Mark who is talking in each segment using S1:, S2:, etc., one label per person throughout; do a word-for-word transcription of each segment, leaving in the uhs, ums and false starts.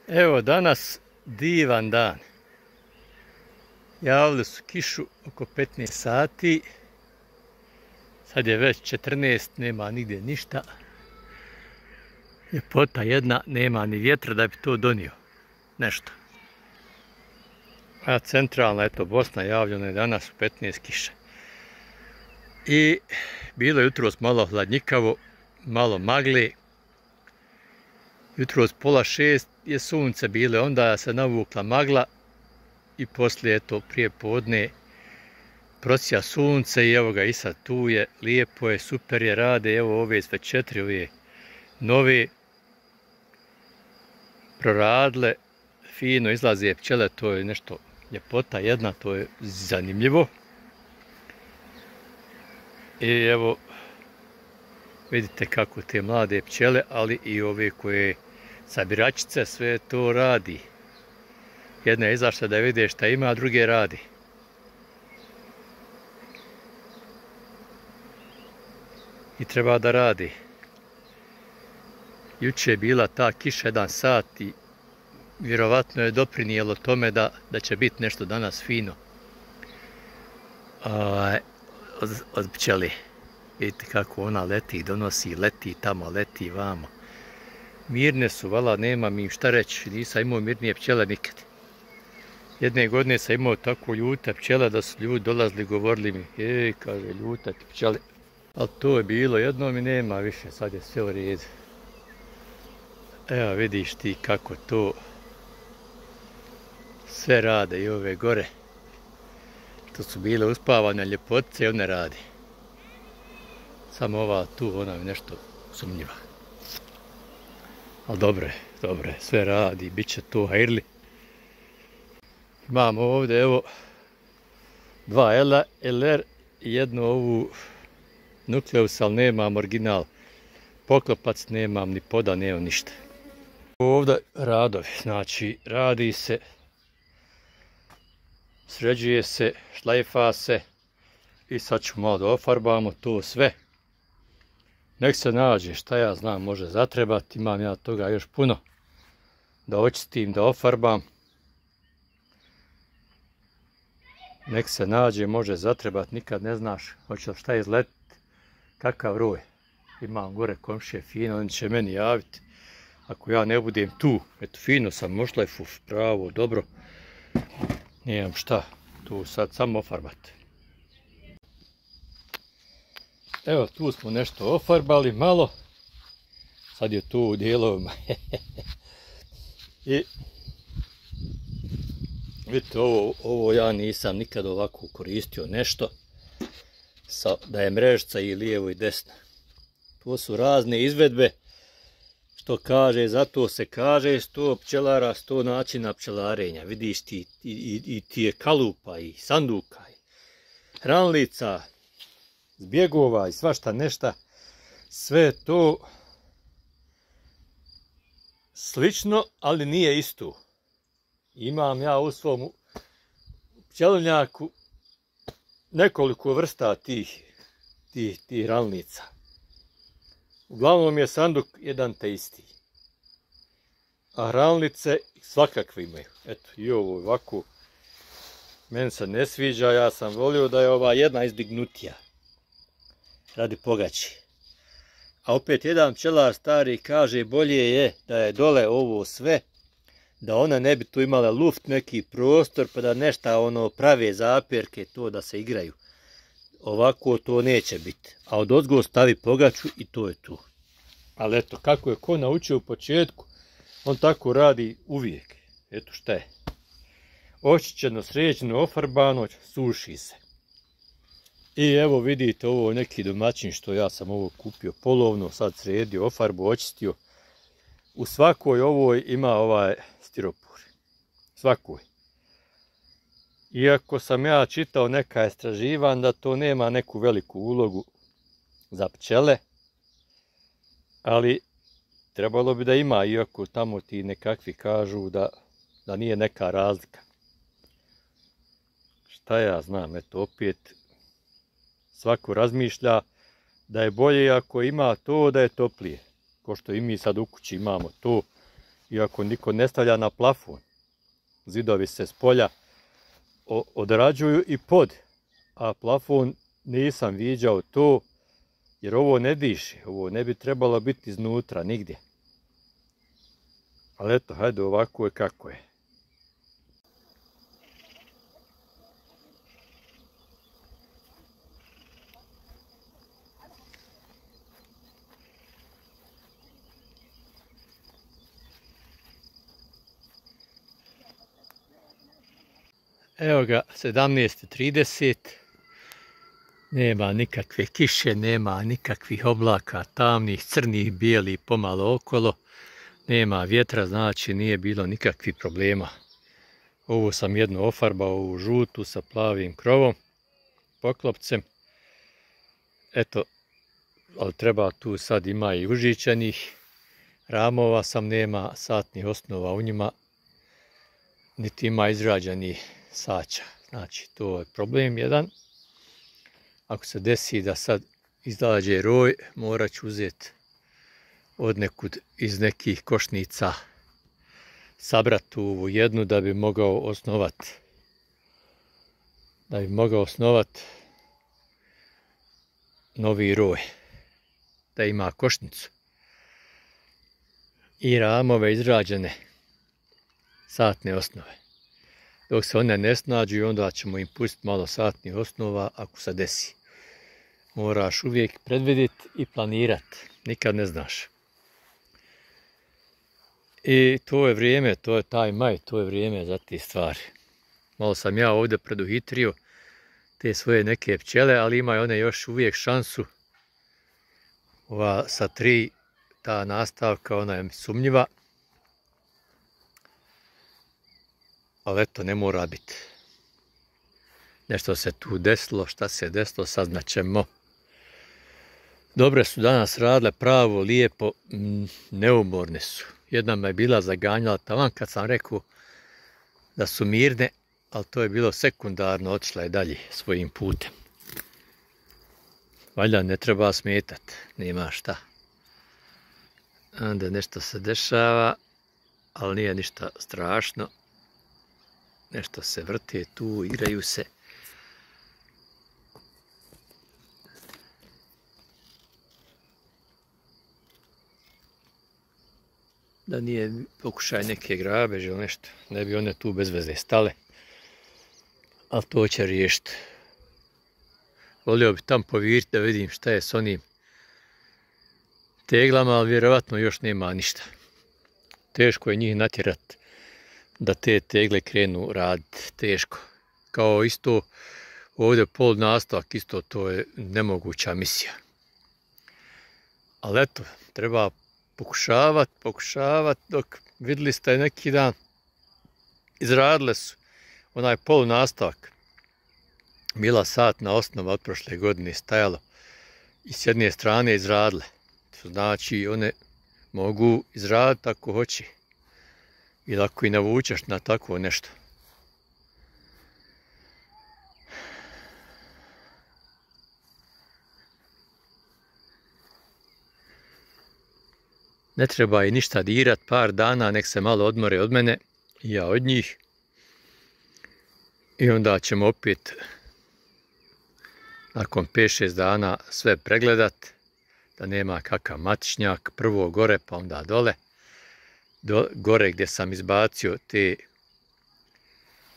S1: Evo danas divan dan. Javili su kišu oko petnaest sati. Sad je već četrnaest, nema nigdje ništa. Ljepota jedna, nema ni vjetra da bi to donio. Nešto. A centralna, eto, Bosna javljena je danas u petnaest kiše. I bilo je jutros malo hladnjikavo, malo magle. Jutros pola šest je sunce bile, onda se navukla magla i poslije, eto, prije podne prosija sunce i evo ga i sad tu je, lijepo je, super je, rade, evo ove sve četiri, ove nove proradile, fino izlaze pčele, to je nešto ljepota jedna, to je zanimljivo. I evo, vidite kako te mlade pčele, ali i ove koje sabiračice, sve to radi. Jedna je izašla da vide šta ima, a druge radi. I treba da radi. Juče je bila ta kiša jedan sat i vjerovatno je doprinijelo tome da, da će biti nešto danas fino. A, od, od pčeli. Vidite kako ona leti, donosi, leti tamo, leti vamo. Mirne su, vala, nema mi šta reći, nisam imao mirnije pčele nikad. Jedne godine sam imao tako ljute pčele da su ljudi dolazili, govorili mi, ej, kaže, ljuta ti pčele. Ali to je bilo jednom i nema više, sad je sve u redu. Evo vidiš ti kako to sve rade i ove gore. To su bile uspavane ljepotice i one radi. Samo ova tu, ona je nešto sumnjiva. Ali dobro je, dobro je, sve radi, bit će to hajrli. Imamo ovdje, evo, dva L R i jednu ovu nukleus, ali nemam original. Poklopac nemam, ni poda, nemam ništa. Ovdje radovi, znači radi se, sređuje se, šlajfa se i sad ću malo da ofarbamo to sve. Nek se nađe, šta ja znam, može zatrebati, imam ja toga još puno. Da očistim, da ofarbam. Nek se nađe, može zatrebati, nikad ne znaš hoće li šta izletiti, kakav roj. Imam gore komšije fino, oni će meni javiti. Ako ja ne budem tu, eto fino sam mošlajfu, pravo, dobro. Nijem šta, tu sad samo ofarbati. Evo, tu smo nešto ofarbali malo. Sad je tu u dijelovima. I vidite, ovo, ovo ja nisam nikad ovako koristio nešto. Sa, da je mrežica i lijevo i desno. To su razne izvedbe. Što kaže, zato se kaže sto pčelara, sto načina pčelarenja. Vidiš ti i, i, i ti je kalupa i sanduka i hranlica, zbjegova i svašta nešta. Sve to slično, ali nije isto. Imam ja u svom pčelinjaku nekoliko vrsta tih, tih, tih hranlica. Uglavnom je sanduk jedan te isti. A hranlice svakakve imaju. Eto, i ovo ovako. Meni se ne sviđa, ja sam volio da je ova jedna izdignutija. Radi pogači. A opet jedan pčelar stari kaže bolje je da je dole ovo sve, da ona ne bi tu imala luft, neki prostor, pa da nešta ono prave zapjerke, to da se igraju. Ovako to neće biti. A od ozgo stavi pogaču i to je tu. Ali eto, kako je ko naučio u početku, on tako radi uvijek. Eto šta je. Očišćeno, sređeno, ofarbano, suši se. I evo vidite ovo neki domaćin što ja sam ovo kupio polovno, sad sredio, ofarbu, očistio. U svakoj ovoj ima ovaj stiropor. Svakoj. Iako sam ja čitao neka istraživanja da to nema neku veliku ulogu za pčele, ali trebalo bi da ima, iako tamo ti nekakvi kažu da, da nije neka razlika. Šta ja znam, eto opet svako razmišlja da je bolje ako ima to da je toplije. Ko što i mi sad u kući imamo to, iako niko ne stavlja na plafon. Zidovi se s polja odrađuju i pod, a plafon nisam viđao to, jer ovo ne diše, ovo ne bi trebalo biti iznutra, nigdje. Ali eto, hajde, ovako je kako je. Evo ga, sedamnaest i trideset, nema nikakve kiše, nema nikakvih oblaka, tamnih, crnih, bijelih, pomalo okolo, nema vjetra, znači nije bilo nikakvih problema. Ovu sam jednu ofarbao u žutu sa plavim krovom, poklopcem. Eto, ali treba tu sad ima i užičanih, ramova sam nema, satnih osnova u njima, niti ima izrađenih sača. Znači, to je problem jedan. Ako se desi da sad izađe roj, morat ću uzeti od nekud iz nekih košnica, sabrati ovu jednu da bi mogao osnovati. Da bi mogao osnovati novi roj. Da ima košnicu. I ramove izrađene satne osnove. Dok se one ne snađu, onda ćemo im pustiti malo satnih osnova ako se desi. Moraš uvijek predvidjeti i planirati. Nikad ne znaš. I to je vrijeme, to je taj maj, to je vrijeme za te stvari. Malo sam ja ovdje preduhitrio te svoje neke pčele, ali imaju one još uvijek šansu. Ova sa tri, ta nastavka, ona je sumnjiva. Ali eto, ne mora biti. Nešto se tu desilo, šta se desilo, saznaćemo. Dobre su danas radile, pravo, lijepo, neumorne su. Jedna me je bila zaganjala taman kad sam rekao da su mirne, ali to je bilo sekundarno, otišla je dalje svojim putem. Valjda ne treba smetati, nema šta. Onda nešto se dešava, ali nije ništa strašno. Nešto se vrte tu, igraju se. Da nije pokušaj neke grabeže ili nešto. Ne bi one tu bez veze stale. Ali to će riješiti. Volio bi tam poviriti da vidim šta je s onim teglama, ali vjerovatno još nema ništa. Teško je njih natjerati da te tegle krenu raditi, teško. Kao isto ovdje pol nastavak, isto to je nemoguća misija. Ali eto, treba pokušavati, pokušavati, dok vidjeli ste neki dan, izradile su onaj pol nastavak. Bila satna osnova od prošle godine stajalo i s jedne strane izradile. To znači one mogu izraditi ako hoće. Ili ako i navučeš na takvo nešto. Ne treba i ništa dirat, par dana, nek se malo odmore od mene i ja od njih. I onda ćemo opet nakon pet šest dana sve pregledat, da nema kakav matičnjak, prvo gore pa onda dole. Do, gore gdje sam izbacio te,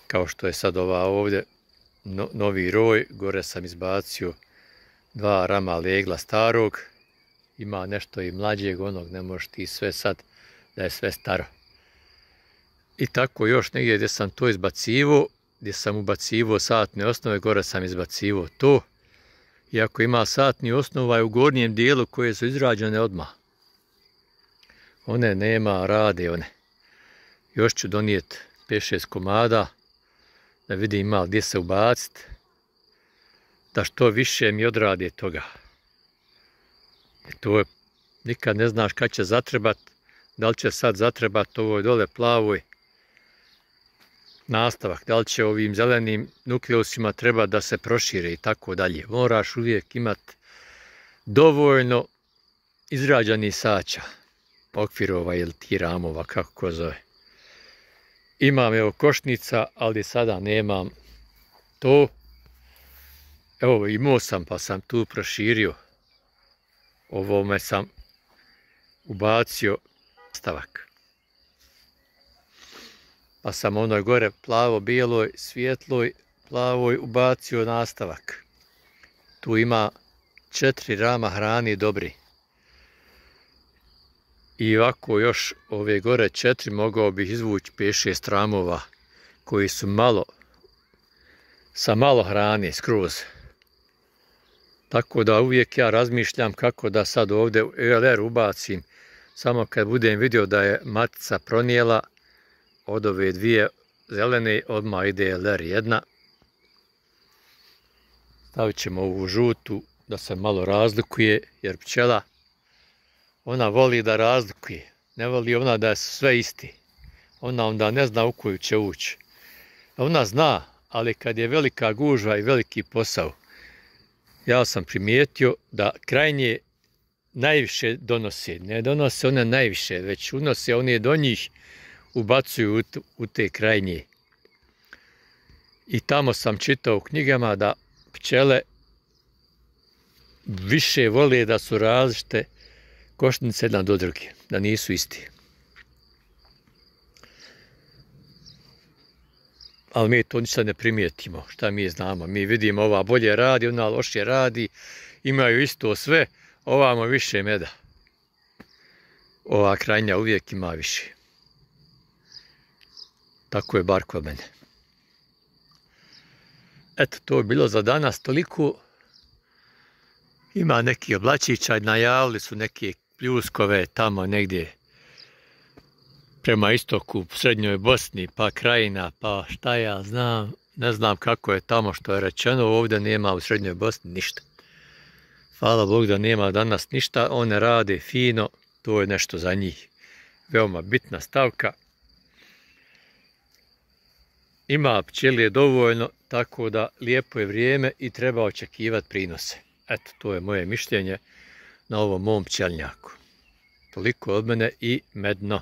S1: kao što je sad ova ovdje, no, novi roj, gore sam izbacio dva rama legla starog, ima nešto i mlađeg onog, ne možeš ti sve sad da je sve staro. I tako još negdje gdje sam to izbacivo, gdje sam ubacivo satne osnove, gore sam izbacivo to. Iako ima satni osnova je u gornjem dijelu koje su izrađene odmah. One nema, rade one. Još ću donijeti pet šest komada, da vidim malo gdje se ubaciti, da što više mi odrade toga. I to je, nikad ne znaš kad će zatrebat, da li će sad zatrebat ovoj dole plavoj nastavak, da li će ovim zelenim nukleusima treba da se prošire i tako dalje. Moraš uvijek imati dovoljno izrađenih sača. okvirova ili ti ramova, kako ko zove. Imam evo košnica, ali sada nemam to. Evo imao sam pa sam tu proširio. Ovome sam ubacio nastavak. Pa sam onoj gore plavo-bijeloj, svjetloj, plavoj ubacio nastavak. Tu ima četiri rama hrani dobri. I ovako još ove gore četiri mogao bih izvući pet šest ramova koji su malo, sa malo hrane skroz. Tako da uvijek ja razmišljam kako da sad ovdje u E L R ubacim, samo kad budem vidio da je matica pronijela od ove dvije zelene, odmah ide E L R jedna. Stavit ćemo ovu žutu da se malo razlikuje, jer pčela ona voli da razlikuje, ne voli ona da je sve isti. Ona onda ne zna u koju će ući. Ona zna, ali kad je velika gužva i veliki posao, ja sam primijetio da krajnje najviše donose. Ne donose one najviše, već unose one do njih, ubacuju u te krajnje. I tamo sam čitao u knjigama da pčele više vole da su različite košnice jedna do druge, da nisu isti. Ali mi to ništa ne primijetimo, šta mi znamo. Mi vidimo ova bolje radi, ona lošije radi, imaju isto sve, ovamo više meda. Ova krajnja uvijek ima više. Tako je bar kod mene. Eto, to je bilo za danas toliko. Ima neki oblačića, najavili su neke pljuskove tamo negdje prema istoku, u srednjoj Bosni, pa Krajina, pa šta ja znam, ne znam kako je tamo što je rečeno, ovdje nema u srednjoj Bosni ništa. Hvala Bog da nema danas ništa, one rade fino, to je nešto za njih. Veoma bitna stavka. Ima pčelije dovoljno, tako da lijepo je vrijeme i treba očekivati prinose. Eto, to je moje mišljenje na ovom mom pčelnjaku. Toliko od mene i medno.